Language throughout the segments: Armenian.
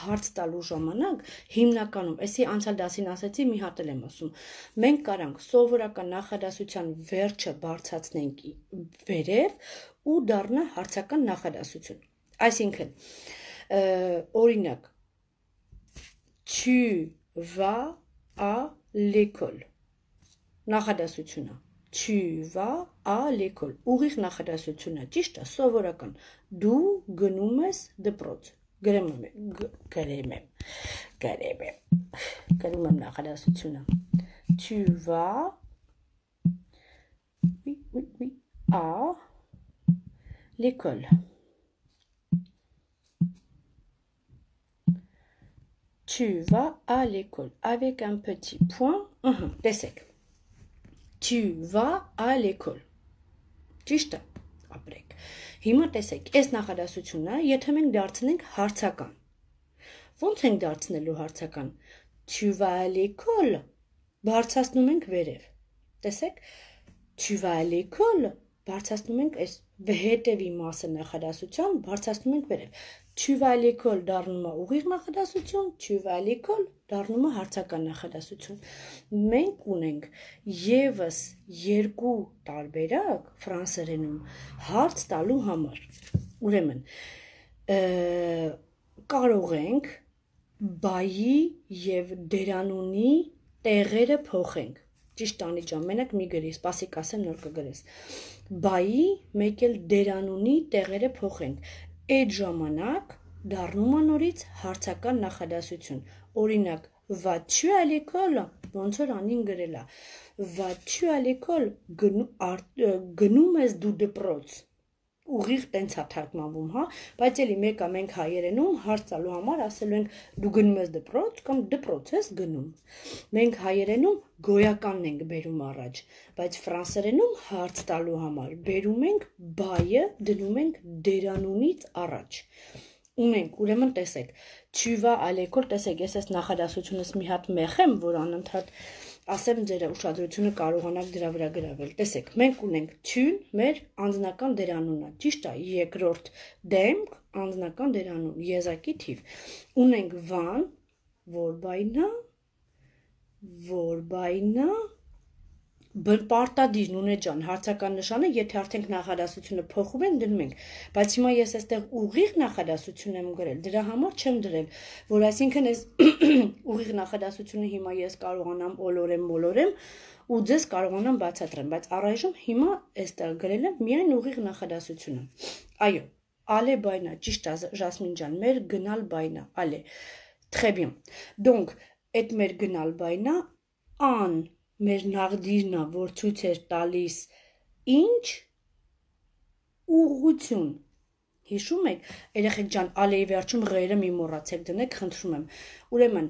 հարց տալու ժամանակ հիմնականում, էսի անցյալ դասին ասեցի, մի հատ էլ եմ ասում, մենք կարանք սովորական նախադասության վերջը բարձրացնենք վերև ու դառնա հարցական նախադասություն։ Այսինքն, օրինակ, tu vas à l'école։ Նախադասությունը tu vas à l'école։ Ուղիղ նախադասությունը, ճիշտ է, սովորական։ Դու գնում ես դպրոց։ Գրեմ նախադասությունը։ Tu vas à l'école։ Tu vas à l'école avec un petit point. Տեսեք։ Tu vas à l'école։ Ճիշտ է, ապրեք։ Հիմա տեսեք, այս նախադասությունը, եթե մենք դարձնենք հարցական։ Ոնց ենք դարձնելու հարցական։ Tu vas à l'école, բարձրացնում ենք վերև։ Տեսեք, tu vas à l'école, բարձրացնում ենք այս հետևի մասը նախադասության, բարձրացնում ենք վերև։ Tu vas à l'école դառնում է ուղիղ նախադասություն, tu vas à l'école դառնում է հարցական նախադասություն։ Մենք ունենք եւս երկու տարբերակ ֆրանսերենում հարց տալու համար։ Ուրեմն, կարող ենք բայի եւ դերանունի տեղերը փոխենք։ Ճիշտ անիջան, մենակ մի գրի, սպասիկ ասեմ, նոր կգրես։ Բայի մեկ էլ դերանունի տեղերը փոխենք։ Այդ ժամանակ դառնում է նորից հարցական նախադասություն։ Օրինակ, vas-tu à l'école, ոնց որ անին գրել է։ Vas-tu à l'école, գնում ես դու դպրոց։ Ուղիղ տենց է թարգմանվում, հա, բայց էլի մեկը մենք հայերենում հարց տալու համար ասելու ենք դու գնում ես դպրոց կամ դպրոց ես գնում։ Մենք հայերենում գոյականն ենք բերում առաջ, բայց ֆրանսերենում հարց տալու համար բերում ենք բայը, դնում ենք դերանունից առաջ։ Ունենք, ուրեմն տեսեք, tu vas à l'école, տեսեք, ես այս նախադասությունս մի հատ մեղեմ, որ անընդհատ ասեմ ձեր ուշադրությունը կարողանաք դրա վրա գրավել։ Տեսեք, մենք ունենք tu-ն մեր անձնական դերանունն է, ճիշտ է, երկրորդ դեմք, անձնական դերանուն, եզակի թիվ։ Ունենք van, որ բայնա, պարտադիր նունե ջան, հարցական նշանը, եթե արդեն նախադասությունը փոխում են, դնում ենք, բայց հիմա ես այստեղ ուղիղ նախադասություն եմ գրել, դրա համար չեմ դրել, որ այսինքն այս ուղիղ նախադասությունը հիմա ես կարողանամ մոլորեմ ու ձեզ կարողանամ բացատրեմ, բայց առայժմ հիմա այստեղ գրել եմ միայն ուղիղ նախադասությունը։ Այո, allez բայնա, ճիշտ է Ժասմին ջան, մեր գնալ բայնա, allez, très bien։ Donc, այդ մեր գնալ բայնա, an մեր նաղդիրն է, որ ցույց էր տալիս ինչ ուղղություն։ Հիշում եք, երեխեք ջան, ալեի վերջում ղերը մի մոռացեք դնեք, խնդրում եմ։ Ուրեմն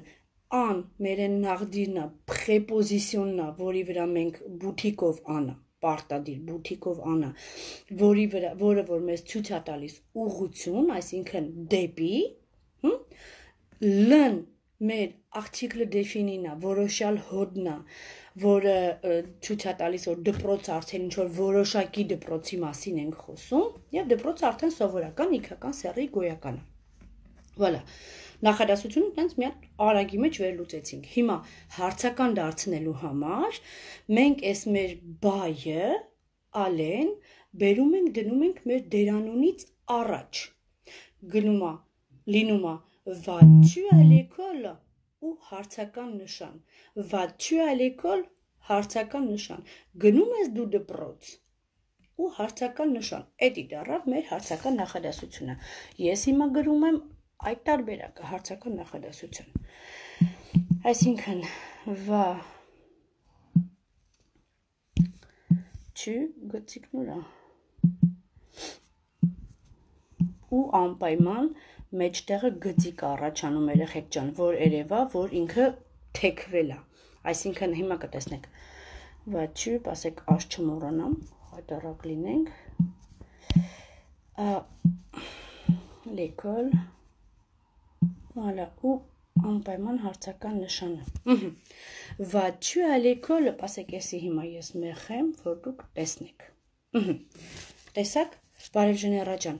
an մեր նաղդիրն է, պրեպոզիցիոնն է, որի վրա մենք բութիկով անա, պարտադիր բութիկով անա, որը որ մեզ ցույց է տալիս ուղղություն, այսինքն դեպի, լն մեր article défini-ն է, որոշյալ հոդն է, որը ցույց է տալիս, որ դպրոցը արդեն ինչ-որ որոշակի դպրոցի մասին ենք խոսում, եւ դպրոցը արդեն սովորական, իգական սեռի գոյական է։ Voilà, նախադասությունը տենց մի հատ արագի մեջ վերլուծեցինք։ Հիմա հարցական դարձնելու համար մենք այս մեր բայը, ալեն, բերում ենք, դնում ենք մեր դերանունից առաջ։ Լինում է vas-tu à l'école ու հարցական նշան։ Vas-tu à l'école, հարցական նշան։ Գնում ես դու դպրոց ու հարցական նշան։ Էդի դառավ մեր հարցական նախադասությունը։ Ես հիմա գրում եմ այդ տարբերակը հարցական նախադասություն։ Այսինքն vas-tu գծիկն ուրա։ Ու անպայման մեջտեղը գծիկ առաջանում երեխեք ջան, որ երևա, որ ինքը թեքվել է։ Այսինքն հիմա կտեսնեք։ Vas-tu, ասեք աշ չմոռանամ, հայտարարակ լինենք։ L'école, voilà, ու անպայման հարցական նշանը։ Vas-tu à l'école, ասեք էսի հիմա ես մեղեմ, որ դուք տեսնեք։ Տեսակ, Բարև Ժեներա ջան,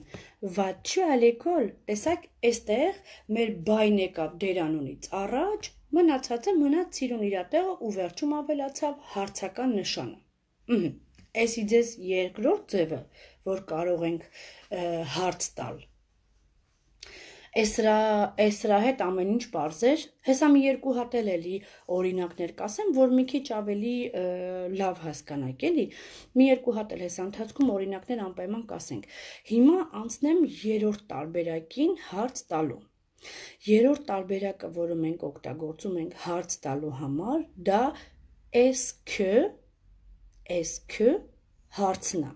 vas-tu à l'école, տեսակ այստեղ մեր բայն եկավ դերանունից առաջ, մնացածը մնաց սիրուն իր տեղը ու վերջում ավելացավ հարցական նշանը։ Էսի ձեզ երկրորդ ձևը, որ կարող ենք հարց տալ։ Էսրա հետ ամեն ինչ պարզեր, հեսա մի երկու հատ էլի օրինակներ կասեմ, որ մի քիչ ավելի լավ հասկանաք, էլի, մի երկու հատ էլ հեսա ընթացքում օրինակներ անպայման կասենք։ Հիմա անցնեմ երրորդ տարբերակին հարց տալու։ Երրորդ տարբերակը, որը մենք օգտագործում ենք հարց տալու համար, դա est-ce que հարցն է։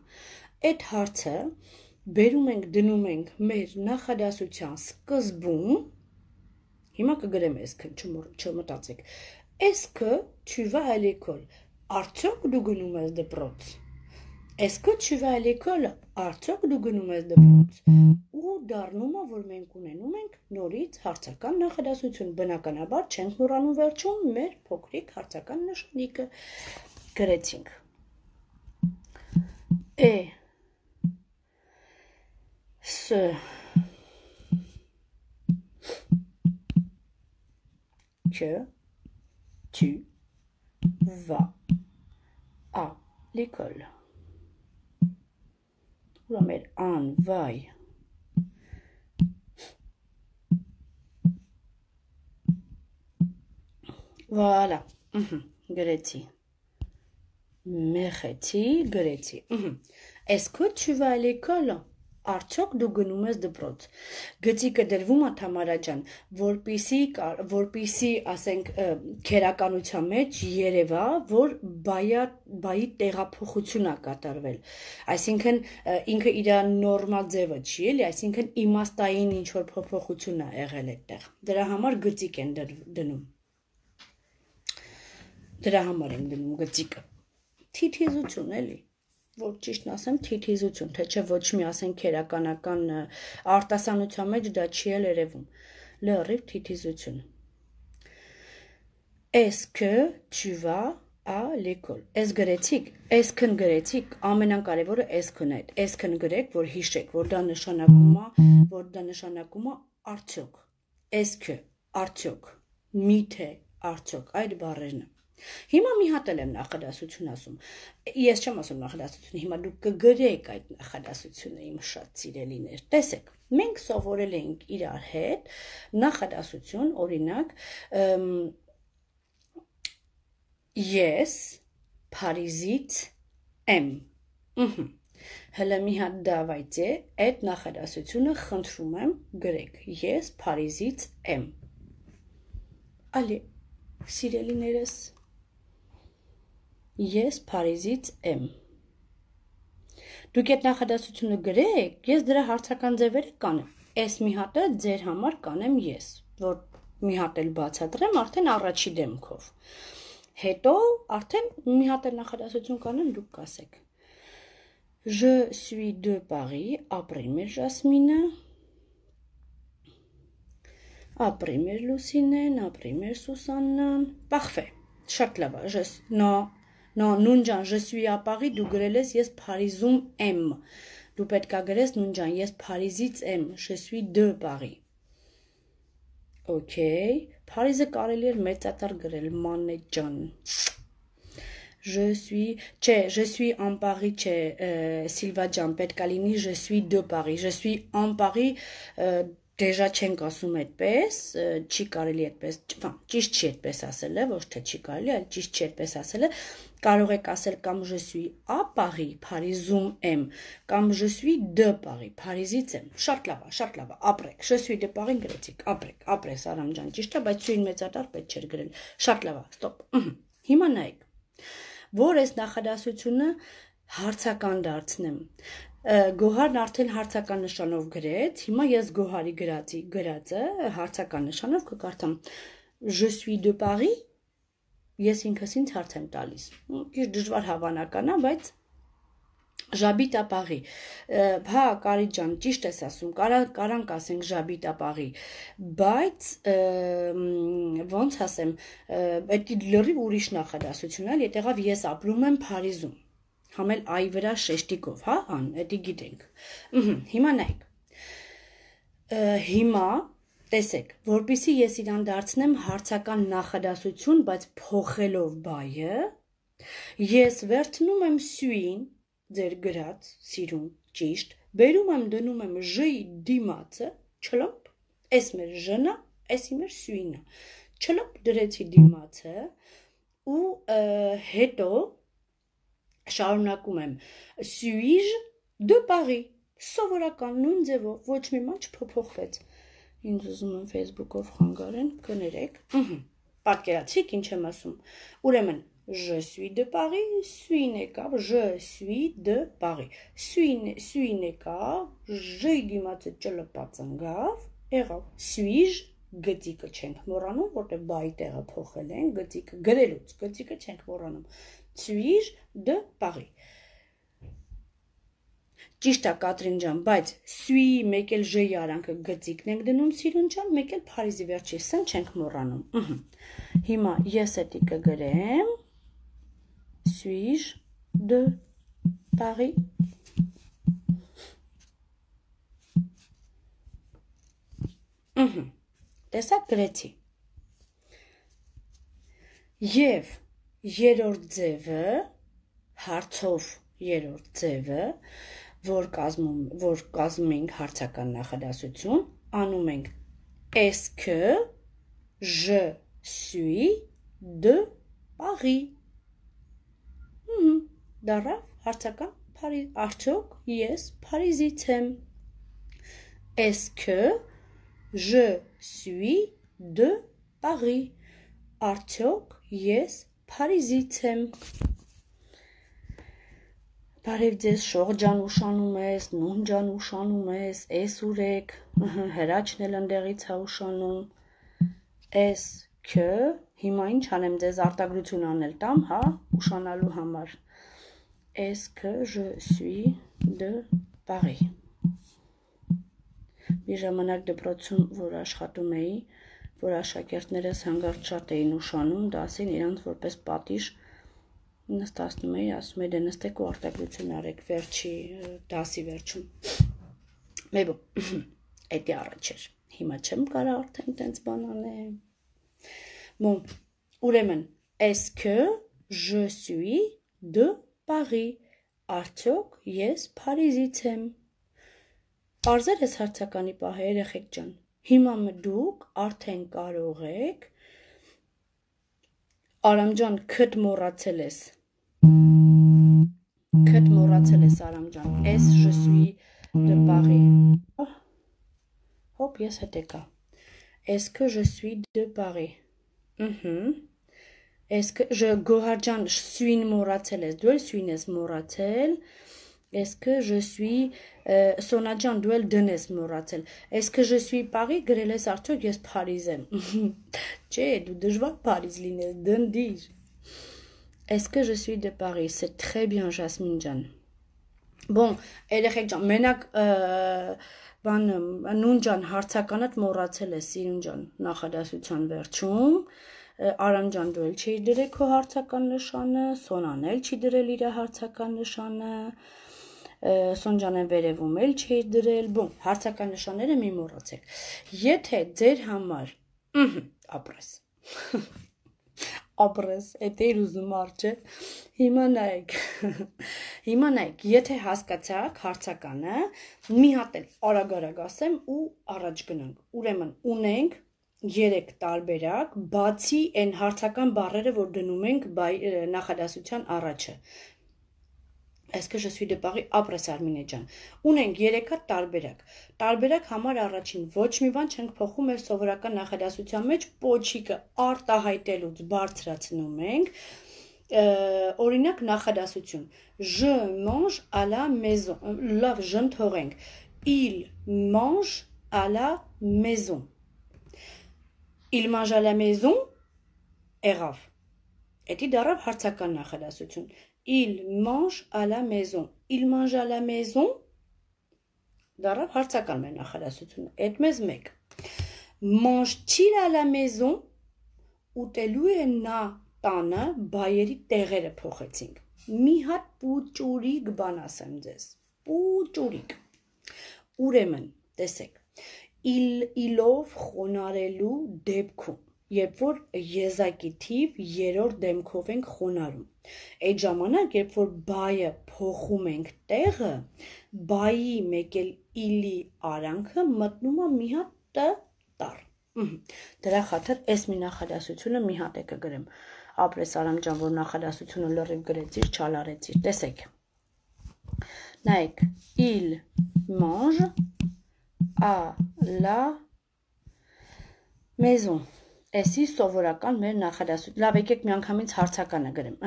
Այդ հարցը բերում ենք, դնում ենք մեր նախադասության սկզբում, հիմա կգրեմ est-ce, չմտածեք, est-ce que tu vas à l'école, արդյոք դու գնում ես դպրոց, est-ce que tu vas à l'école, արդյոք դու գնում ես դպրոց, ու դառնում է, որ մենք ունենում ենք նորից հարցական նախադասություն, բնականաբար չենք մոռանում վերջում մեր փոքրիկ հարցական նշանիկը, գրեցինք, ce que tu vas à l'école. On va mettre un vai. Voilà. Գրեցի. Մեխեցի, գրեցի. Est-ce que tu vas à l'école? Արդյոք դու գնում ես դպրոց։ Գծիկը դրվում է Թամարա ջան, որպիսի, ասենք, քերականության մեջ երևա, որ բայի տեղափոխություն է կատարվել։ Այսինքն ինքը իր նորմալ ձևը չի, էլի, այսինքն իմաստային ինչ որ փոփոխություն է եղել այդտեղ։ Դրա համար գծիկ են դնում։ Դրա համար են դնում գծիկը։ Թիթիզություն էլի, որ ճիշտն ասեմ, թիթիզություն, թե չէ ոչ մի ասենք քերականական արտասանության մեջ դա չի էլ երևում։ Լրիվ թիթիզություն։ Est-ce que tu vas à l'école? Էս գրեցիք, էսքն գրեցիք, ամենակարևորը էսքն է։ Էսքն գրեք, որ հիշեք, որ դա նշանակում է արդյոք։ Est-ce que արդյոք, միթե արդյոք, այդ բառերն է։ Հիմա մի հատ էլ եմ նախադասություն ասում, ես չեմ ասում նախադասությունը, հիմա դուք կգրեք այդ նախադասությունը իմ շատ սիրելիներ, տեսեք, մենք սովորել ենք իրար հետ նախադասություն, օրինակ, ես Փարիզից եմ, հլը մի հատ դավայցե, այդ նախադասությունը խնդրում եմ գրեք, ես Փարիզից եմ, ալի, սիրելիներս, Ես Փարիզից եմ։ Դուք այդ նախադասությունը գրեք, ես դրա հարցական ձևերը կանեմ։ Այս մի հատը ձեր համար կանեմ ես, որ մի հատ էլ բացատրեմ արդեն առաջի դեմքով։ Հետո արդեն մի հատ էլ նախադասություն կանեմ, դուք կասեք։ Je suis de Paris, ապրի մեր Ժասմինը, ապրի մեր Լուսինեն, ապրի մեր Սուսաննը, parfait, շատ լավ է, Non, նունջան, je suis à Paris, դու գրել ես, ես Փարիզում եմ, դու պետք է գրես նունջան, ես Փարիզից եմ, je suis de Paris, okay, Փարիզը կարելի էր մեծատար գրել, մանե ջան, je suis en Paris, չէ, Սիլվա ջան, պետք է լինի, je suis de Paris, je suis en Paris, Դեժա չենք ասում այդպես, չի կարելի այդպես, ճիշտ չի այդպես ասել է, ոչ թե չի կարելի, այլ ճիշտ չի այդպես ասել է, կարող եք ասել կամ je suis à Paris, Փարիզում եմ, կամ je suis de Paris, Փարիզից եմ, շատ լավ է, ապրեք, je suis de Paris գրեցիք, ապրես Արամ ջան, ճիշտ է, բայց սույն մեծատար պետք չէր գրել, շատ լավ է, ստոպ, հիմա նայեք, որ այս նախադասությունը հարցական դարձնեմ, Գոհարն արդեն հարցական նշանով գրեց, հիմա ես Գոհարի գրածը հարցական նշանով կկարդամ Je suis de Paris, ես ինքս ինձ հարց եմ տալիս, քիչ դժվար հավանական է, բայց J'habite à Paris, հա Կարի ջան, ճիշտ ես ասում, կարանք ասենք J'habite à Paris, բայց ոնց ասեմ, այդ լրիվ ուրիշ նախադասություն է, ետեղավ ես ապրում եմ Փարիզում, համել այի վրա շեշտիկով, հա, էդի գիտենք։ Հիմա նայեք։ Հիմա տեսեք, որպեսզի ես իրան դարձնեմ հարցական նախադասություն, բայց փոխելով բայը, ես վերցնում եմ սյուին, ձեր գրած, սիրուն, ճիշտ, բերում եմ դնում եմ ժ-ի դիմացը, չլոպ, էս մեր ժ-նա, էսի մեր սյուինը, չլոպ դրեցի դիմացը ու հետո շարունակում եմ suis de Paris, սովորական նույն ձևով, ոչ մի բան չփոփոխվեց։ Ինձ ուզում եմ Facebook-ով խանգարեն, կներեք։ Պատկերացրիք ինչ եմ ասում։ Ուրեմն je suis de Paris, suis-ն եկավ, je suis de Paris։ Suis-ն եկավ, j-ի դիմացը ճլպած ընկավ, եղավ suis գծիկը չենք մոռանում, որտեղ բայի տեղը փոխել են, գծիկը գրելուց, գծիկը չենք մոռանում։ Suis de Paris։ Ճիշտ է Կատրին ջան, բայց suis մեկ էլ j-ի արանքը գծիկն ենք դնում սիրուն ջան, մեկ էլ Փարիզի վերջի s-ն չենք մոռանում։ Հիմա ես էդի կգրեմ suis de Paris։ Տեսակ գրեցի։ Եվ երրորդ ձևը, հարցով երրորդ ձևը, որ կազմում ենք հարցական նախադասություն, անում ենք est-ce que je suis de Paris։ Դառավ հարցական արդյոք ես Փարիզից եմ։ Est-ce que je suis de Paris։ Արդյոք ես Փարիզից եմ։ Բարև ձեզ շող ջան ուշանում ես, նուն ջան ուշանում ես, էս ուրեք, հրաչն էլ ընդեղից է ուշանում, est-ce que, հիմա ինչ անեմ ձեզ արտագրություն անել տամ, հա, ուշանալու համար, est-ce que je suis de Paris։ Մի ժամանակ դպրոցում, որ աշխատում էի, որ աշակերտներս հանգարտ շատ էին ուշանում, դասին իրանց որպես պատիժ նստացնում էի, ասում էի, դե նստեք ու արտագրություն արեք վերջի դասի վերջում։ Մեբո, էդի առաջ էր, հիմա չեմ կարա արդեն տենց բան անեմ։ Bon, ուրեմն, est-ce que je suis de Paris։ Արդյոք ես Փարիզից եմ։ Պարզեր ես հարցականի պահը երեխեք ջան։ Հիմա դուք արդեն կարող եք Արամ ջան, քդ մոռացել ես։ Քդ մոռացել ես Արամ ջան։ Est je suis de Paris։ Հոպ, ես հետ եկա։ Est-ce que je suis de Paris։ Est-ce que je Գոհար ջան, suis-ն մոռացել ես, դու էլ suis-ն ես մոռացել։ Est-ce que je suis Սոնա ջան, դու էլ դն ես մոռացել։ Est-ce que je suis Paris գրել ես արդյոք ես Փարիզ եմ։ Չէ, դու դժվար Փարիզ լինես, դնդիր։ Est-ce que je suis de Paris։ C'est très bien Jasmine ջան։ Bon, երեխեք ջան, մենակ բանը նուն ջան հարցականդ մոռացել ես սիրուն ջան նախադասության վերջում։ Արամ ջան դու էլ չի դրել քո հարցական նշանը, Սոնան էլ չի դրել իր հարցական նշանը, Սոնջանեն վերևում էլ չի դրել, բոն, հարցական նշանները մի մոռացեք։ Եթե ձեր համար, ապրես, ապրես, էդ էր ուզում արջը, հիմա նայեք, եթե հասկացաք հարցականը, մի հատ էլ արագ ասեմ ու առաջ գնանք, ուրեմն ունենք 3 տարբերակ, բացի այն հարցական բառերը, որ դնում ենք նախադասության առաջը։ Est-ce que je suis de Paris, ապրես Արմինե ջան։ Ունենք 3 հատ տարբերակ։ Տարբերակ համար առաջին ոչ մի բան չենք փոխում մեր սովորական նախադասության մեջ, պոչիկը արտահայտելուց բարձրացնում ենք։ Օրինակ նախադասություն։ Je mange à la maison։ Լավ, ժն թողենք։ Il mange à la maison։ Il mange à la maison, եղավ։ Էդի դառավ հարցական նախադասություն։ Il mange à la maison։ Il mange à la maison, դառավ հարցական մեր նախադասություն։ Էդ մեզ մեկ։ Mange-t-il à la maison, ուտելու է նա տանը, բայերի տեղերը փոխեցինք։ մի հատ պուճուրիկ բան ասեմ ձեզ, պուճուրիկ, ուրեմն, տեսեք, իլով խոնարելու դեպքում, երբ որ եզակի թիվ երրորդ դեմքով ենք խոնարում, այդ ժամանակ, երբ որ բայը փոխում ենք տեղը, բայի մեկ էլ իլի արանքը մտնում է մի հատ տար, դրա խաթր այս մի նախադասությունը մի հատ է կգրեմ, ապրես Արամ ջան, որ նախադասությունը լրիվ գրեցիր, չալարեցիր, տեսեք, նայեք, il mange à la maison, էսի սովորական մեր նախադասություն, լավ եկեք մի անգամից հարցականը գրեմ,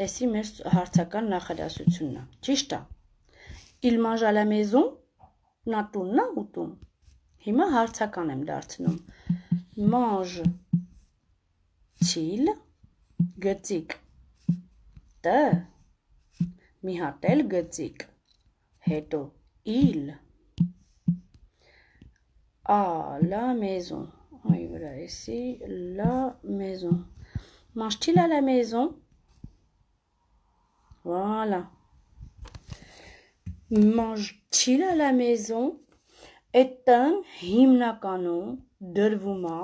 էսի մեր հարցական նախադասությունն է, ճիշտ է, il mange à la maison, նա տունն է ուտում, հիմա հարցական եմ դարձնում, mange til, գծիկ, տ, մի հատ էլ գծիկ, հետո il, à la maison, այ վրա էսի, la maison, mange-t-il à la maison, voilà, mange-t-il à la maison, այդ տան հիմնականում դրվում է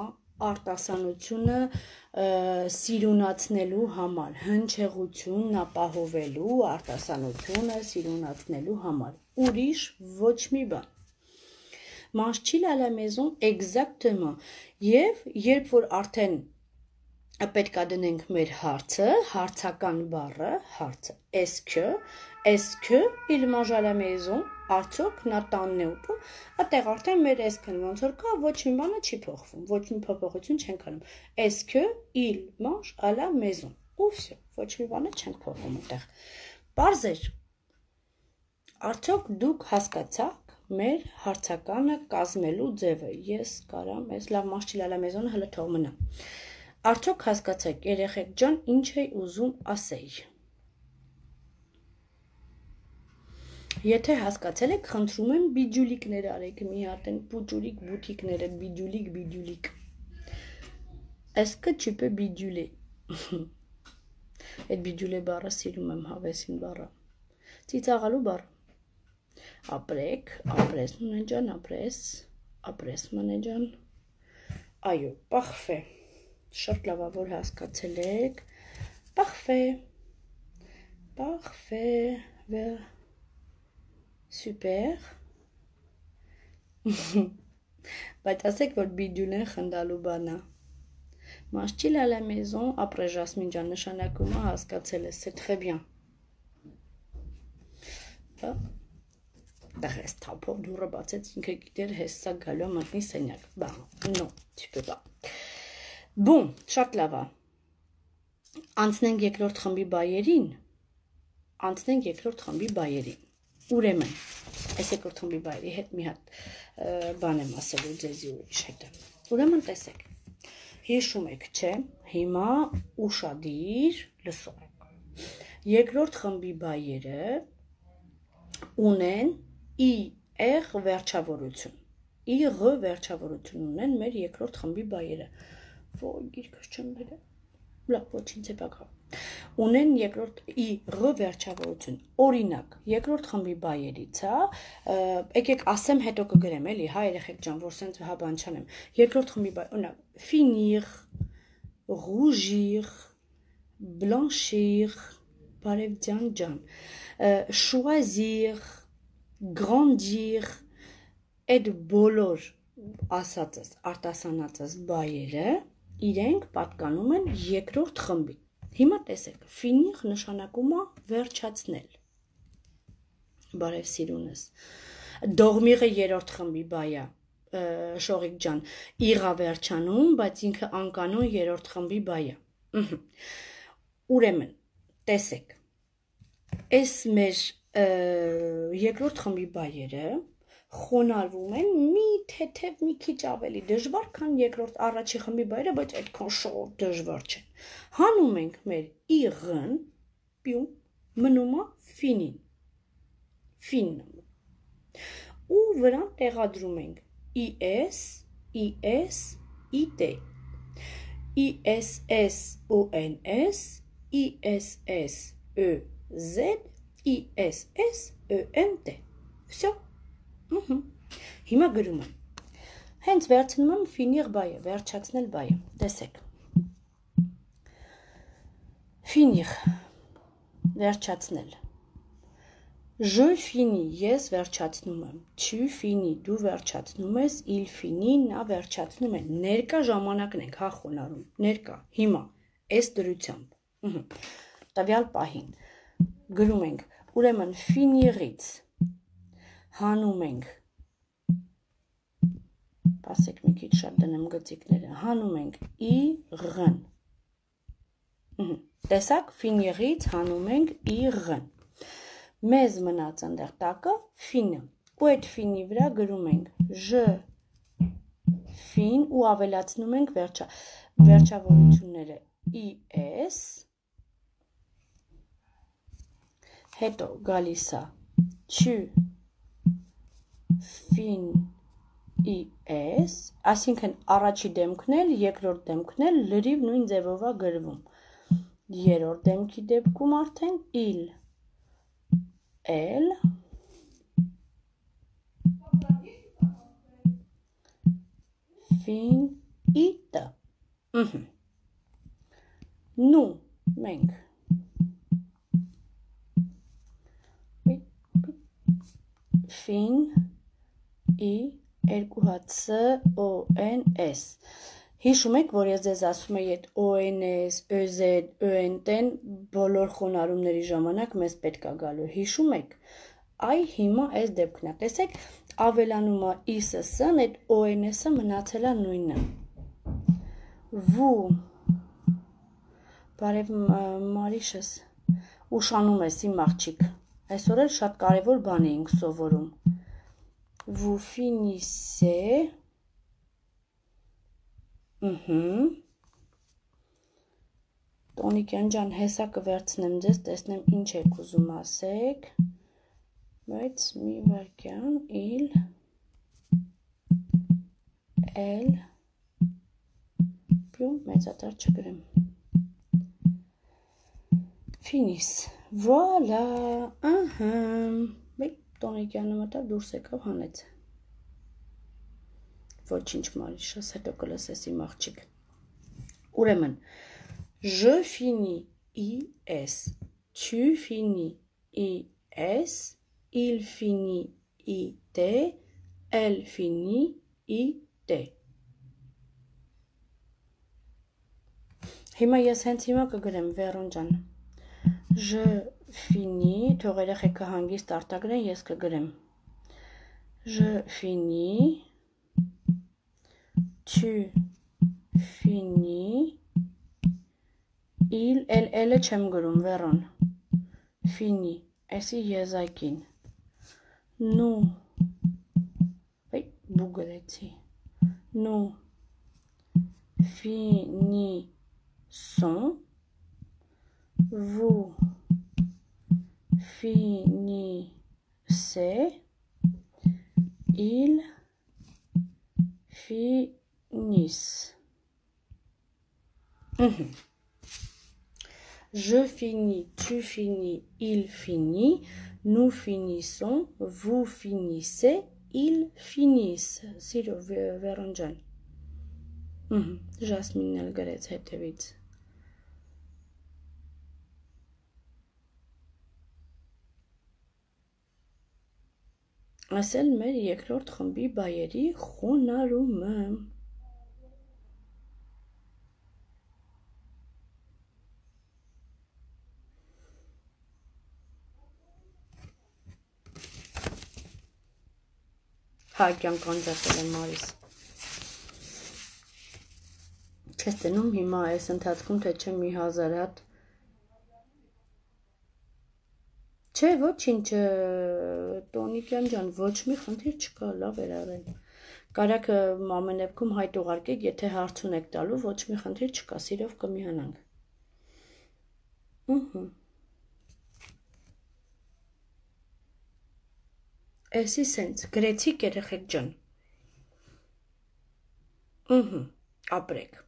արտասանությունը սիրունացնելու համար, հնչեղությունն ապահովելու արտասանությունը սիրունացնելու համար, ուրիշ ոչ մի բան, mange-t-il à la maison, exactement, և երբ որ արդեն պետք է դնենք մեր հարցը, հարցական բառը, հարցը, est-ce que il mange à la maison, արդյոք նա տանն է ուտում, այդտեղ արդեն մեր est-ն ոնց որ կա, ոչ մի բանը չի փոխվում, ոչ մի փոփոխություն չենք անում, est-ce que il mange à la maison, ու վсё, ոչ մի բանը չենք փոխվում այդտեղ, պարզ էր, արդյոք դուք հասկացաք մեր հարցականը կազմելու ձևը, ես կարամ, ես լավ mange-t-il à la maison-ը հլը թող մնա, արդյոք հասկացեք, երեխեք ջան, ինչ էի ուզում ասեի, եթե հասկացել եք, խնդրում եմ բիջուլիկներ արեք, մի հատ են պուճուրիկ բութիկները, բիջուլիկ, est-ce que tu peux biduler, այդ բիջուլե բառը սիրում եմ հավեսին բառը, ծիծաղալու բառը, ապրեք, ապրես մնեջան, ապրես մնեջան, այո, պախվե, շատ լավ որ հասկացել եք, պախվե, super, բայց ասեք, որ բիջուլեն խնդալու բանա, mange-t-il à la maison, ապրե Ժասմին ջան, նշանակում է հասկացել ես, c'est très bien, դա հես թափով դուրը բացեց, ինքը գիտեր հես սա գալու մտնի սենյակ, non, tu peux pas, bon, շատ լավ է, անցնենք երկրորդ խմբի բայերին, ուրեմն, այս երկրորդ խմբի բայերի հետ մի հատ բան եմ ասելու ձեզի ուրիշ հետը, ուրեմն տեսեք, հիշում եք, չէ, հիմա ուշադիր լսող եք, երկրորդ խմբի բայերը ունեն IR վերջավորություն ունեն մեր երկրորդ խմբի բայերը, ոյ գիրքս չեմ բերել, լավ, ոչինչ է բակավ, ունեն երկրորդ IR վերջավորություն, օրինակ, երկրորդ խմբի բայերից, եկեք ասեմ հետո կգրեմ, էլի, հա երեխեք ջան, որ սենց բան չանեմ, երկրորդ խմբի բայ, օրինակ, finir, rougir, blanchir, բարև ջան, choisir, grandir, այդ բոլոր ասածս, արտասանածս բայերը իրենք պատկանում են երկրորդ խմբի, հիմա տեսեք, finir նշանակում է վերջացնել, բարև սիրունս, dormir-ը երրորդ խմբի բայ է, շողիկ ջան, իղա վերջանում, բայց ինքը անկանոն երրորդ խմբի բայ է, ուրեմն, տեսեք, այս մեր երկրորդ խմբի բայերը խոնարհվում են մի թեթև մի քիչ ավելի դժվար, քան երկրորդ առաջի խմբի բայերը, բայց այդքան շատ դժվար չեն, հանում ենք մեր իղն, մնում է ֆինին, ու վրան տեղադրում ենք IS, IS, IT, ISS, ONS, ISS, Z-I-S-S-E-N-T Всё Հիմա գրում եմ Հենց վերցնում եմ finir բայը, վերջացնել բայը տեսեք Finir վերջացնել Je finis, ես վերջացնում եմ, tu finis, դու վերջացնում ես, il finit, նա վերջացնում է, ներկա ժամանակն ենք, հա խոնարհում, ներկա, հիմա, այս դրությամբ, տվյալ պահին, գրում ենք, ուրեմն finir-ից, հանում ենք, ասեք մի քիչ շատ դնեմ գծիկները, հանում ենք ir-ն, տեսակ, finir-ից հանում ենք ir-ն, մեզ մնաց ընդեղ տակը ֆինը ու այդ ֆինի վրա գրում ենք je fin ու ավելացնում ենք վերջավորությունները is հետո գալիս է tu finis այսինքն առաջի դեմքն էլ երկրորդ դեմքն էլ լրիվ նույն ձևով է գրվում երրորդ դեմքի դեպքում արդեն il elle finit nous մենք fin i երկու հատ s o n s Հիշում եք, որ ես ձեզ ասում եի այդ ONS, ÖZ, ÖNT-ն բոլոր խոնարհումների ժամանակ մեզ պետք է գալու։ Հիշում եք։ Այ հիմա այս դեպքն է։ Տեսեք, ավելանում է ISS-ն, այդ ONS-ը մնացել է նույնը։ Vous Բարև Մարիշս, ուշանում ես իմ աղջիկ։ Այսօր էլ շատ կարևոր բան էինք սովորում։ Vous finissez Տոնիկյան ջան, հեսա կվերցնեմ ձեզ, տեսնեմ ինչ եք ուզում ասեք, բայց մի վարկյան, il, elle, պյում, մեծատար չգրեմ, finis, voilà, Տոնիկյանը մտավ, դուրս եկավ, հանեց, ոչինչ Մարիշաս, հետո կլսես իմ աղջիկ, ուրեմն, Je finis IS, tu finis IS, il finit IT, elle finit IT. Հիմա ես հենց հիմա կգրեմ Վերոն ջան. Je finis, թող երեխեքը հանգիստ արտագրեն, ես կգրեմ. Je finis, tu finis, il, elle չեմ գրում, Վերոն, fini, այսի եզակին, nous, բու գրեցի, nous finissons, vous finissez, ils finissent. Je finis, tu finis, il finit, nous finissons, vous finissez, ils finissent. Սիրո Վերոն ջան. Ժասմինն էլ գրեց հետևից. Ասել մեր երկրորդ խմբի բայերի խոնարհումը. Հա, կյանք անջատել եմ Մարիս. Չես տենում հիմա այս ընթացքում, թե չէ մի հազար հատ Չէ, ոչինչ, Տոնիկյան ջան, ոչ մի խնդիր չկա, լավ էր արել։ Կարաք ամեն դեպքում հայտ ուղարկեք, եթե հարց ունեք տալու, ոչ մի խնդիր չկա, սիրով կմիանանք։ Էսի սենց, գրեցիք երեխեք ջան։ Ապրեք։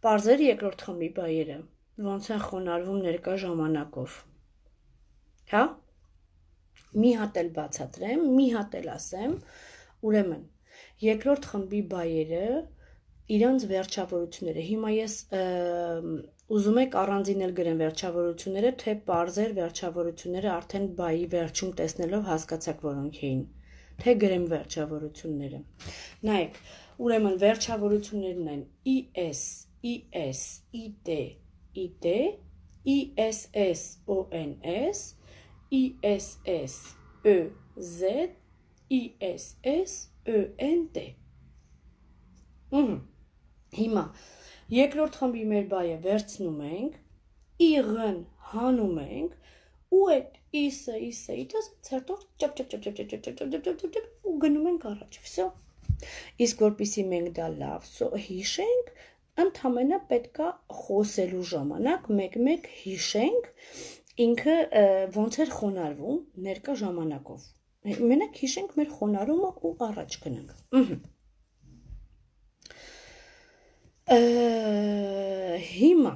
Պարզեր երկրորդ խմբի բայերը, ոնց են խոնարհվում ներկա ժամանակով։ հա, մի հատ էլ բացատրեմ, մի հատ էլ ասեմ, ուրեմն, երկրորդ խմբի բայերը, իրանց վերջավորությունները, հիմա ես ուզում եք առանձին էլ գրեմ վերջավորությունները, թե պարզեր վերջավորությունները արդեն բայի վերջում տեսնելով հասկացաք որոնք էին, թե գրեմ վերջավորությունները, նայեք, ուրեմն վերջավորություններն են IS, IS, IT, IT, ISS, ONS, ISS, EZ, ISS, ENT Հիմա, երկրորդ խմբի մեր բայը վերցնում ենք, իղն հանում ենք, ու այդ իսը ցերտով ու գնում ենք առաջ, վսո։ Իսկ որպեսզի մենք դա լավ հիշենք, ընդհանրապես պետքա խոսելու ժամանակ մեկ-մեկ հիշենք ինքը ոնց էր խոնարհվում ներկա ժամանակով։ Մենակ հիշենք մեր խոնարհումը ու առաջ գնանք։ Հիմա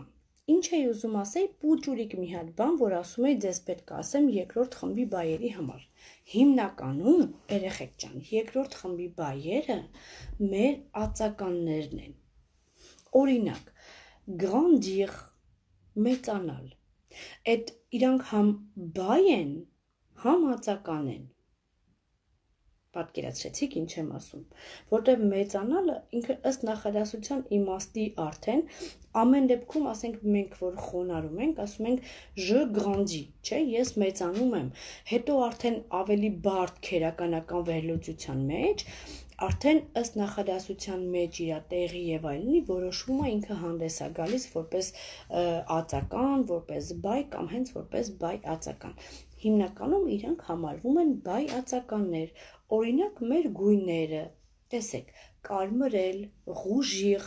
ինչ էի ուզում ասեի, պուճուրիկ մի հատ բան, որ ասում էի ձեզ պետք է ասեմ երկրորդ խմբի բայերի համար։ Հիմնականում, երեխեք ջան, երկրորդ խմբի բայերը մեր ածականներն են։ Օրինակ, grandir, մեծանալ։ Այդ իրանք համ բայ են, համ ածական են։ Պատկերացրեցիք ինչ եմ ասում, որտեղ մեծանալը ինքը ըստ նախադասության իմաստի արդեն ամեն դեպքում ասենք մենք որ խոնարհում ենք, ասում ենք je grandis, չէ, ես մեծանում եմ, հետո արդեն ավելի բարդ քերականական վերլուծության մեջ արդեն ըստ նախադասության մեջ իր տեղի եւ այլնի որոշումը ինքը հանդես է գալիս որպես ածական, որպես բայ կամ հենց որպես բայ ածական։ Հիմնականում իրանք համարվում են բայ ածականներ, օրինակ մեր գույները, տեսեք, կարմրել, rougir,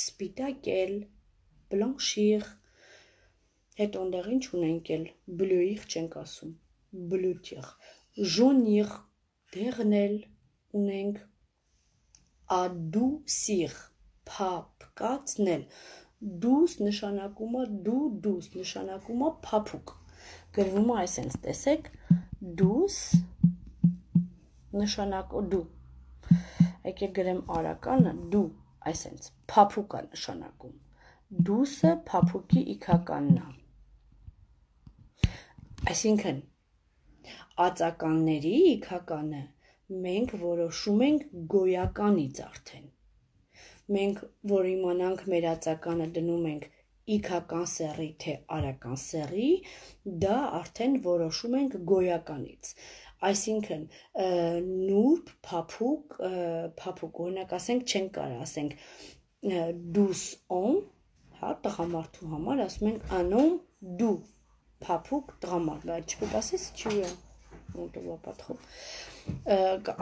սպիտակել, blanchir, հետո ընդեղ ինչ ունենք էլ, bleuir չենք ասում, bleutir, jaunir, դեղնել ունենք, adoucir, փափկացնել, douce նշանակում է douce նշանակում է փափուկ, գրվում է այսպես, տեսեք, douce նշանակ դու, եկեք գրեմ արականը, դու, այսենց, փափուկ է նշանակում, դուսը փափուկի իքականն է, այսինքն, ածականների իքականը մենք որոշում ենք գոյականից արդեն, մենք որ իմանանք մեր ածականը դնում ենք իքական սեռի թե արական սեռի, դա արդեն որոշում ենք գոյականից, այսինքն նուրբ, փափուկ, օրինակ ասենք չենք կարող ասենք դուս on, հա, տղամարդու համար ասում ենք անոն դու, փափուկ տղամարդ, բայց չպետք ասես չի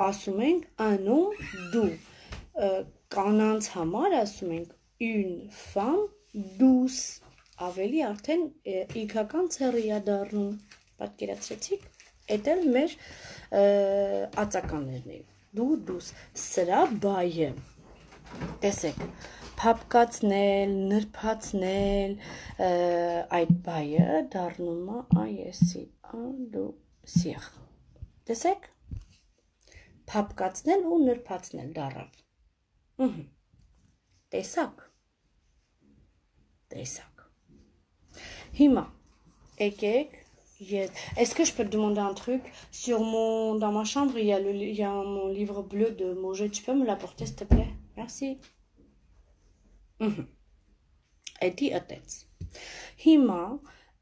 ասում ենք անոն դու, կանանց համար ասում ենք une femme douce, ավելի արդեն իքական ցեռի է դառնում, պատկերացրեցիք, էդ էլ մեր ածականներն են, դու դուս, սրա բայը, տեսեք, փափկացնել, նրբացնել, այդ բայը դառնում է այսի, adoucir, տեսեք, փափկացնել ու նրբացնել դառավ, տեսակ, հիմա, եկեք, est-ce que je peux te demander un truc? Dans ma chambre, il y a mon livre bleu de Mauger. Tu peux me l'apporter, s'il te plaît? Merci. Էդի ըտեց։ Հիմա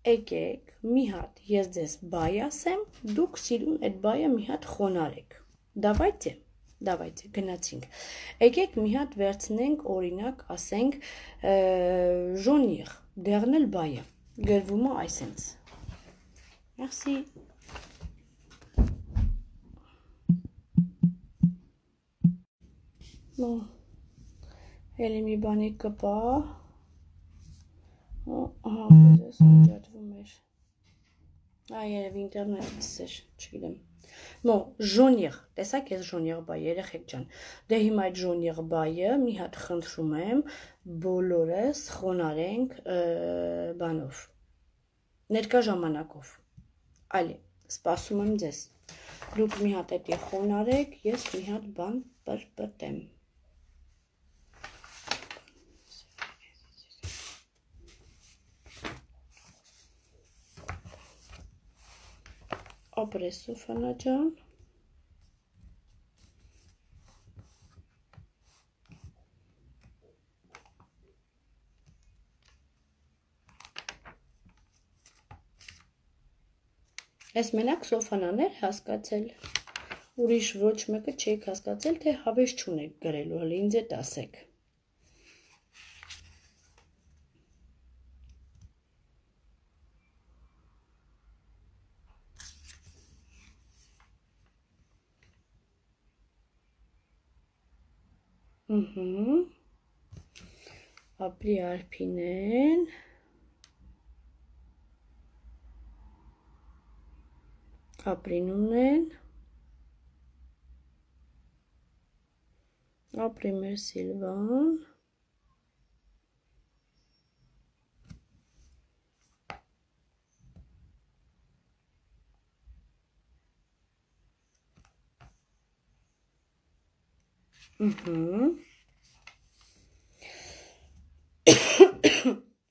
եկեք մի հատ ես ձեզ բայ ասեմ, դուք սիրուն այդ բայը մի հատ խոնարեք։ Давайте գնացինք։ Եկեք մի հատ վերցնենք օրինակ, ասենք jaunir, դեղնել բայը։ Գրվում է այսպես։ Merci. Bon. Էլի մի բանի կպա։ Ահա, ես անջատվում էր։ Երևի ինտերնետից էր, չգիտեմ։ Bon, jaunir, տեսակ ես jaunir բայ, երեխեք ջան։ Դե հիմա այդ jaunir բայը մի հատ խնդրում եմ, բոլորս խոնարենք բանով։ Ներկա ժամանակով։ Այլի, սպասում եմ ձեզ։ Դուք մի հատ էտի խոնարեք, ես մի հատ բան պրպտեմ։ Ապրես Սոֆանա ջան։ Ես մենակ Սոֆանան էր հասկացել, ուրիշ ոչ մեկը չեք հասկացել, թե հավես չունեք գրելու, հələ ինձ էդ ասեք։ Ապրի Արփինեն։ Ապրինունեն, ապրի մեր Սիլվան,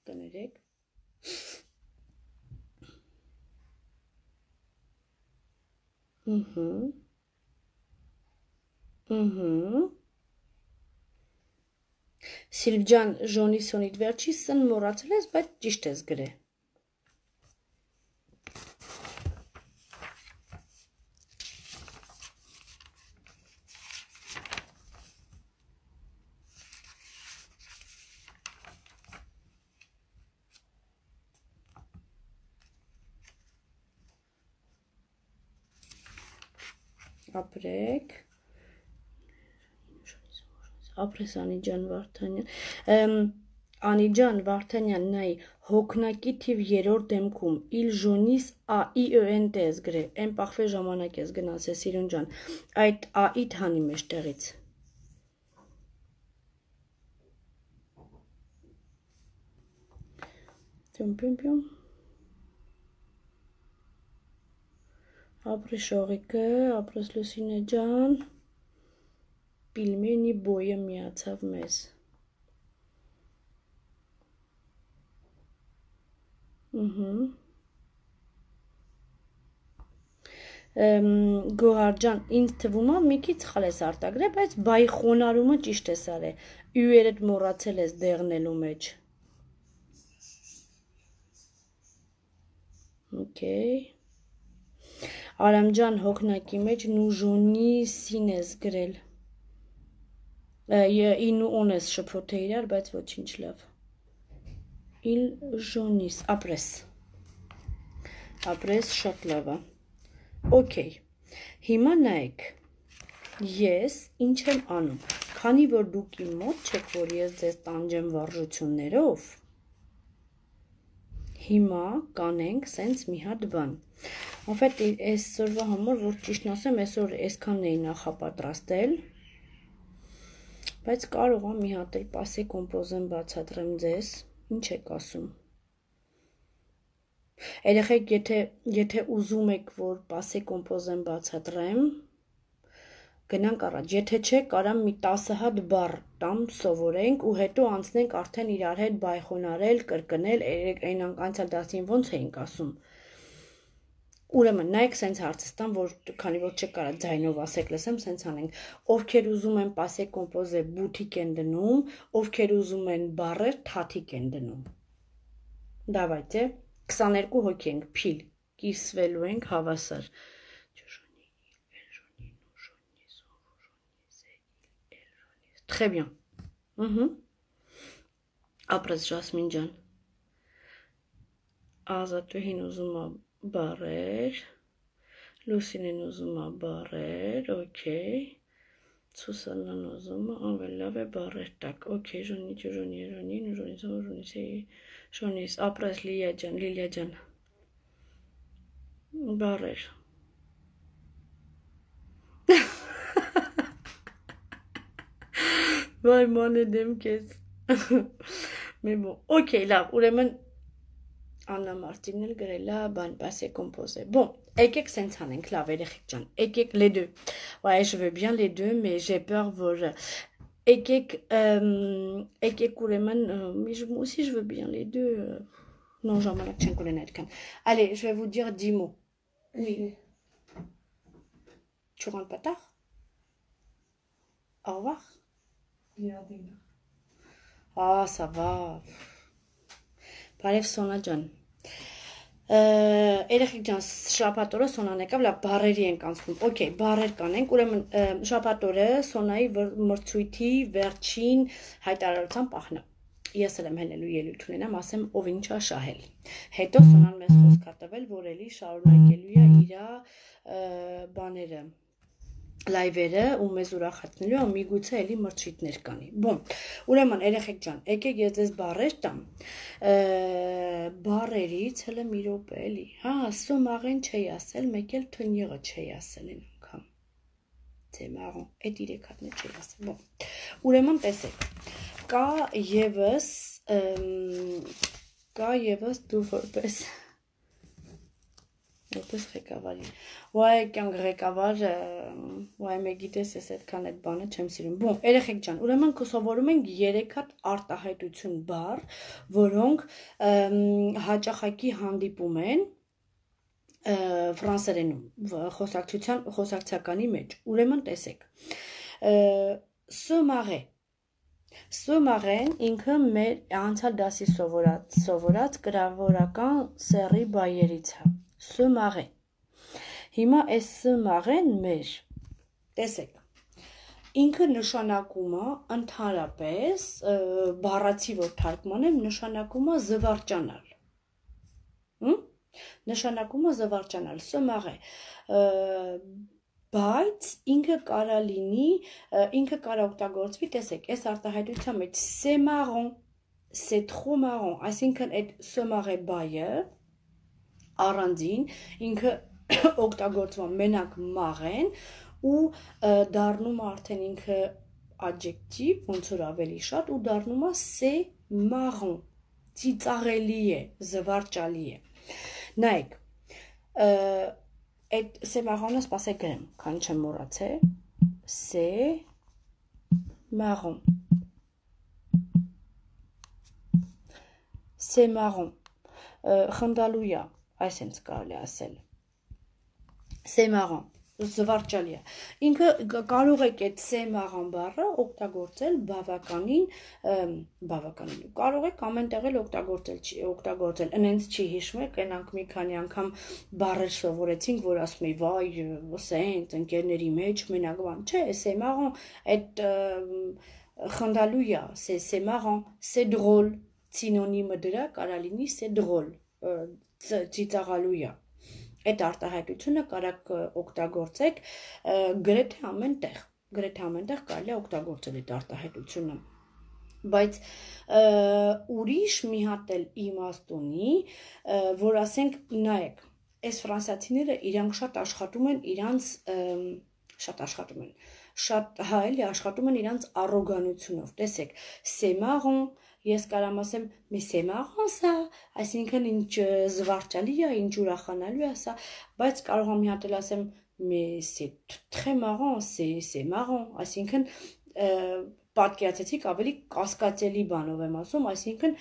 կներեք, Սիլվ ջան, Ժոնիսոնիդ վերջի սն մոռացել ես, բայց ճիշտ ես գրե։ Ապրեք, ապրես Անիջան Վարդանյան, Անիջան Վարդանյան, նայ, հոգնակի թիվ 3-րդ դեմքում, իլ ժոնիս AIENT ես գրե, են պախվե ժամանակ ես գնաս է Սիրուն ջան, այդ AI-դ հանի մեջ տեղից։ Պյում։ Ապրի Շողիկը, ապրես Լուսինե ջան, Պիլմենի բոյը միացավ մեզ։ Գոհար ջան, ինձ թվում է մի քիչ սխալ ես արտագրել, բայց բայ խոնարհումը ճիշտ ես արել, յուերդ մոռացել ես դեղնելու մեջ։ Okay։ Արամ ջան, հոգնակի մեջ նուժոնի սին ես գրել։ Ինու on ես շփոթե իրար, բայց ոչինչ լավ։ Իլ ժոնիս, ապրես շատ լավ է։ Okay, հիմա նայեք, ես ինչ եմ անում, քանի որ դուք իմ մոտ չեք, որ ես ձեզ տանջեմ վարժություններով, հիմա կանենք սենց մի հատ բան։ Անֆետ այսօրվա համար, որ ճիշտն ասեմ, այսօր այսքանն էի նախապատրաստել, բայց կարող եմ մի հատ էլ պասե կոմպոզեմ բացատրեմ ձեզ, ինչ եք ասում։ Երեխեք, եթե ուզում եք, որ պասե կոմպոզեմ բացատրեմ, գնանք առաջ, եթե չէ, կարամ մի 10 հատ բառ տամ սովորենք ու հետո անցնենք արդեն իրար հետ բայխոնարել, կրկնել, այնանք անցյալ դասին ոնց էինք ասում։ Ուրեմն, նայեք սենց հարցս տամ, որ քանի որ չեք կարա ձայնով ասեք լսեմ, սենց անենք, ովքեր ուզում են պասե կոմպոզե բութիկ են դնում, ովքեր ուզում են բառեր թաթիկ են դնում։ Դավայցե, 22 հոգի ենք, փիլ, կիսվելու ենք հավասար։ Très bien. Ապրես Ժասմին ջան։ Ազատուհին ուզում է բառեր, Լուսինեն ուզում է բառեր, okay։ Սուսաննան ուզում է, ավելի լավ է բառեր տակ, okay, Ժոնիս, ապրես Լիլիա ջան։ Բառեր։ Վայ մանե դեմ կեզ։ Okay, լավ, ուրեմն Աննա Մարտինն էլ գրել է բան passé composé. Bon, եկեք սենց անենք, լավ երեխեք ջան. Եկեք les deux. Ouais, je veux bien les deux, mais j'ai peur որ եկեք ուրեմն si je veux bien les deux. Non, ժամանակ չենք ունենա այդքան. Allez, je vais vous dire 10 mots. Oui. Tu rentres pas tard? Au revoir. Ah, ça va. Բարև Սոնա ջան։ Երեխեք ջան, շաբաթ օրը Սոնան եկավ, լավ բառերի ենք անցնում։ Okay, բառեր կանենք։ Ուրեմն շաբաթ օրը Սոնայի մրցույթի վերջին հայտարարության պահն է։ Ես էլ եմ հենելու ելույթ ունենամ, ասեմ ով ինչ է շահել։ Հետո Սոնան մեզ խոսք է տվել, որ էլի շարունակելու է իր բաները լայվերը ու մեզ ուրախացնելու ու միգուցե էլի մրցույթներ կանի։ Բոմ, ուրեմն երեխեք ջան, եկեք ես ձեզ բառեր տամ։ Բառերից հələ մի րոպե էլի։ Հա, սոմաղեն չի ասել, մեկ էլ թնյեղը չի ասել այն անգամ։ C'est marrant, այդ երեք հատն չի ասել։ Բոմ։ Ուրեմն տեսեք։ Կա եւս դու որպես որպես ղեկավարի։ Ոայ կյանք ղեկավար, ոայ մեգիտես ես այդքան այդ բանը չեմ սիրում։ Բոմ, երեխեք ջան, ուրեմն կսովորում ենք 3 հատ արտահայտություն բառ, որոնք հաճախակի հանդիպում են ֆրանսերենում խոսակցականի մեջ։ Ուրեմն տեսեք։ Սոմաղե Սոմաղեն ինքը մեր անցյալ դասի սովորած գրավորական սեռի բայերից է։ Սոմաղե։ Հիմա այս սոմաղեն մեր, տեսեք, ինքը նշանակում է ընդհանրապես, բառացի որ թարգմանեմ, նշանակում է զվարճանալ։ Նշանակում է զվարճանալ, սոմաղե, բայց ինքը կարա լինի, ինքը կարա օգտագործվի, տեսեք, այս արտահայտության մեջ c'est marrant, c'est trop marrant, այսինքն այդ սոմաղե բայը առանձին ինքը օգտագործվում մենակ մաղեն ու դառնում արդեն ինքը adjective, ոնց որ ավելի շատ ու դառնում է c'est marrant, ծիծաղելի է, զվարճալի է։ Նայեք, այդ c'est marrant-ը սպասեք գրեմ, քան չեմ մոռացել, c'est marrant, c'est marrant, խնդալու է, այսենց կարելի ասել, c'est marrant, զվարճալի է։ Ինքը կարող եք այդ c'est marrant բառը օգտագործել բավականին, կարող եք ամեն տեղ էլ օգտագործել, ընենց չի հիշում եք, այնանք մի քանի անգամ բառեր սովորեցինք, որ ասում էի, վայ, սենց, ընկերների մեջ, մենակ բան, չէ, c'est marrant, այդ խնդալու է, c'est marrant, c'est drôle, սինոնիմը դրա կարա լինի c'est drôle, ծիծաղալու է։ Այդ արտահայտությունը կարաք օգտագործեք գրեթե ամեն տեղ կարելի է օգտագործել այդ արտահայտությունը, բայց ուրիշ մի հատ էլ իմաստ ունի, որ ասենք նայեք, այս ֆրանսիացիները իրանք շատ աշխատում են իրանց առոգանությունով, տեսեք, c'est marrant, ես կարամ ասեմ, mais c'est marrant ça, այսինքն ինչ զվարճալի է, ինչ ուրախանալու է սա, բայց կարող եմ մի հատ էլ ասեմ, mais c'est très marrant, c'est marrant, այսինքն պատկերացեցիք ավելի կասկածելի բանով եմ ասում, այսինքն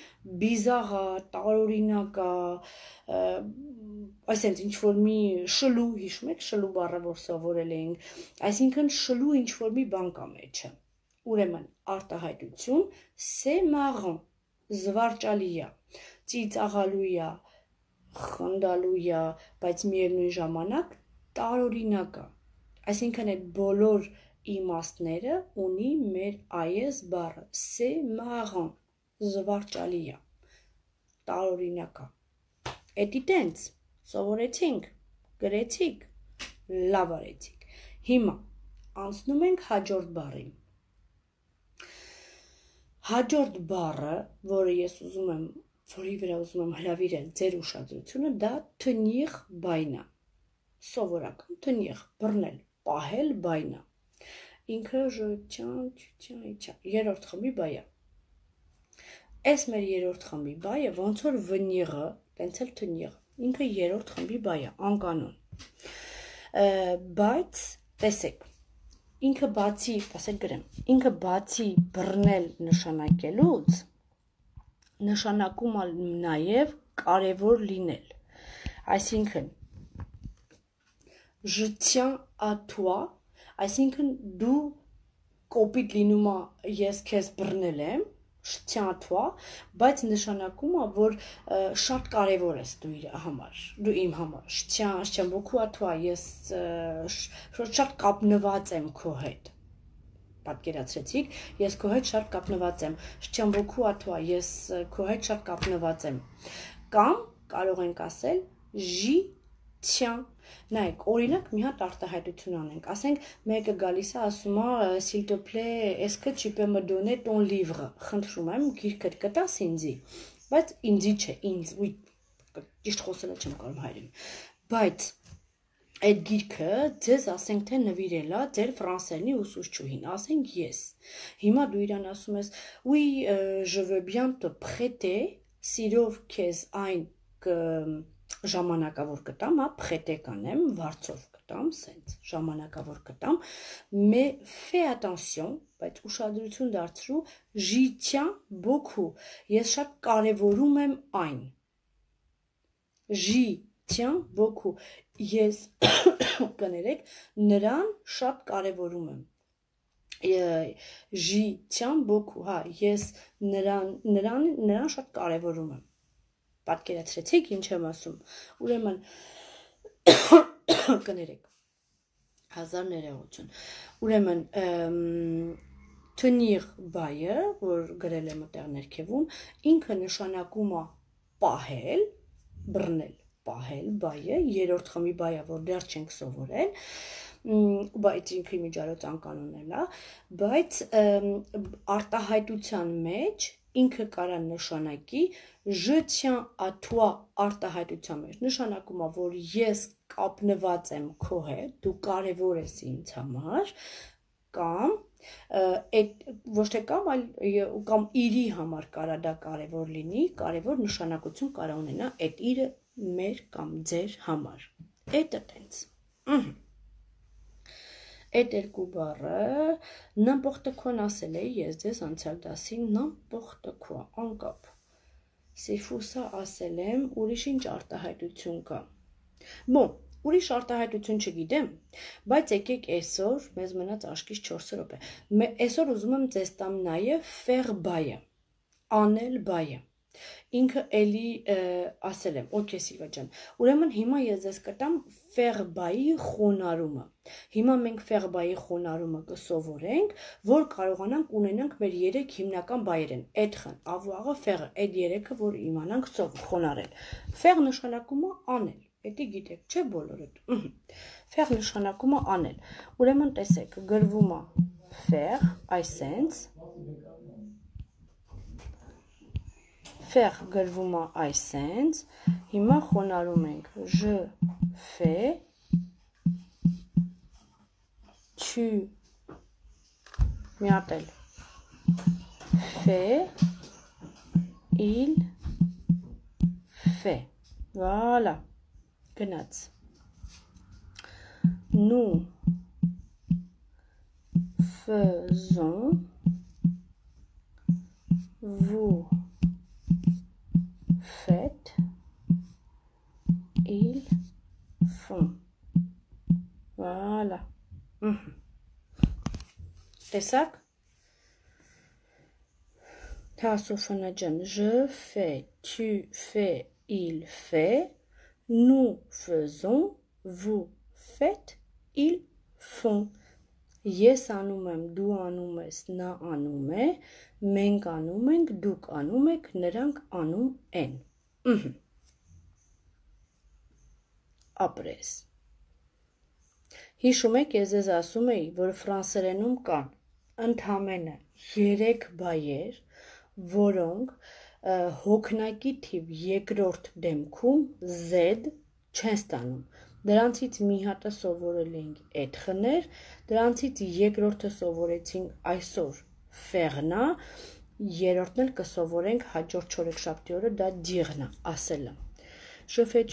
բիզար է, տարօրինակ է, այսինքն ինչ որ մի շլու, հիշում եք շլու բառը որ սովորել էինք, այսինքն շլու ինչ որ մի բան կա մեջը։ Ուրեմն արտահայտություն c'est marrant, զվարճալի է, ծիծաղալու է, խնդալու է, բայց միևնույն ժամանակ տարօրինակ է։ Այսինքն այդ բոլոր իմաստները ունի մեր այս բառը, c'est marrant, զվարճալի է, տարօրինակ է։ Էդի տենց սովորեցինք, գրեցիք, լավ արեցիք։ Հիմա անցնում ենք հաջորդ բառին։ Հաջորդ բառը, որի վրա ուզում եմ հրավիրել ձեր ուշադրությունը, դա tenir բայն է։ Սովորական tenir, բռնել, պահել բայն է։ Ինքը je tiens, tu tiens, et tiens, երրորդ խմբի բայ է։ Այս մեր երրորդ խմբի բայը ոնց որ վնիղը, տենց էլ թնիղը, ինքը երրորդ խմբի բայ է, անկանոն։ Բայց տեսեք, ինքը բացի, ասեք գրեմ, ինքը բացի բռնել նշանակելուց, նշանակում է նաև կարևոր լինել։ Այսինքն, je tiens à toi, այսինքն դու կոպիտ լինում է ես քեզ բռնել եմ, je tiens à toi, բայց նշանակում է, որ շատ կարևոր ես դու իմ համար, je tiens beaucoup à toi, ես շատ կապնված եմ քո հետ, պատկերացրեցիք, ես քո հետ շատ կապնված եմ, je tiens beaucoup à toi, ես քո հետ շատ կապնված եմ, կամ կարող ենք ասել j'y tiens, նայեք, օրինակ մի հատ արտահայտություն անենք, ասենք մեկը գալիս է ասում է s'il te plaît, est-ce que tu peux me donner ton livre, խնդրում եմ գիրքդ կտաս ինձի, բայց ինձի չէ, ինձ, ճիշտ խոսելը չեմ կարող հայերեն, բայց այդ գիրքը ձեզ ասենք թե նվիրել է ձեր ֆրանսերենի ուսուցչուհին, ասենք ես, հիմա դու իրան ասում ես, oui, je veux bien te prêter, սիրով քեզ այն ժամանակավոր կտամ, prêter կանեմ, վարձով կտամ, սենց, ժամանակավոր կտամ, mais fais attention, բայց ուշադրություն դարձրու, j'y tiens beaucoup, ես շատ կարևորում եմ այն, j'y tiens beaucoup, ես կներեք, նրան շատ կարևորում եմ, j'y tiens beaucoup, հա, ես նրան շատ կարևորում եմ, պատկերացրեցիք ինչ եմ ասում, ուրեմն կներեք, 1000 ներողություն, ուրեմն tenir բայը, որ գրել եմ այդտեղ ներքևում, ինքը նշանակում է պահել, բռնել, պահել բայը, երրորդ խմբի բայը, որ դեռ չենք սովորել, բայց ինքը միջարոց անկանոնել է, բայց արտահայտության մեջ ինքը կարա նշանակի je tiens à toi արտահայտության մեջ, նշանակում է, որ ես կապնված եմ քո հետ, դու կարևոր ես ինձ համար, կամ, ոչ թե կամ, այլ կամ իրի համար կարա դա կարևոր լինի, կարևոր նշանակություն կարա ունենա այդ իրը մեր կամ ձեր համար, էտը տենց, Այդ երկու բառը n'importe quoi ասել էի ես ձեզ անցյալ դասին n'importe quoi անկապ c'est fou ça ասել եմ ուրիշ ինչ արտահայտություն կա bon ուրիշ արտահայտություն չգիտեմ բայց եկեք այսօր մեզ մնաց աշկից 4 րոպե այսօր ուզում եմ ձեզ տամ նաև faire բայը անել բայը ինքը էլի ասել եմ, օքեյ Սիլվա ջան, ուրեմն հիմա ես ձեզ կտամ ֆեղբայի խոնարհումը, հիմա մենք ֆեղբայի խոնարհումը կսովորենք, որ կարողանանք ունենանք մեր 3 հիմնական բայեր են, էդխն, ավուաղը, ֆեղը, այդ 3-ը, որ իմանանք խոնարհել, ֆեղ նշանակում է անել, էդի գիտեք, չէ բոլորդ, ֆեղ նշանակում է անել, ուրեմն տեսեք, գրվում է ֆեղ, այսենց, Faire գրվում է այսենց, հիմա խոնարհում ենք, je fais, tu, մի հատ էլ, fait, il, fait, voilà, գնաց, nous faisons, vous faites, ils font. Voilà. Տեսակ? Թասոֆանաջան, je fais, tu fais, il fait, nous faisons, vous faites, ils font. Ես անում եմ, դու անում ես, նա անում է, մենք անում ենք, դուք անում եք, նրանք անում են։ Ապրես։ Հիշում եք, ես ձեզ ասում էի, որ ֆրանսերենում կան ընդամենը 3 բայեր, որոնք հոգնակի թիվ երկրորդ դեմքում Z չեն ստանում։ Դրանցից մի հատը սովորել էինք էդխներ, դրանցից երկրորդը սովորեցինք այսօր ֆեղնա, երրորդն էլ կսովորենք հաջորդ չորեքշաբթի օրը դա դիղն է, ասելը։ Je fais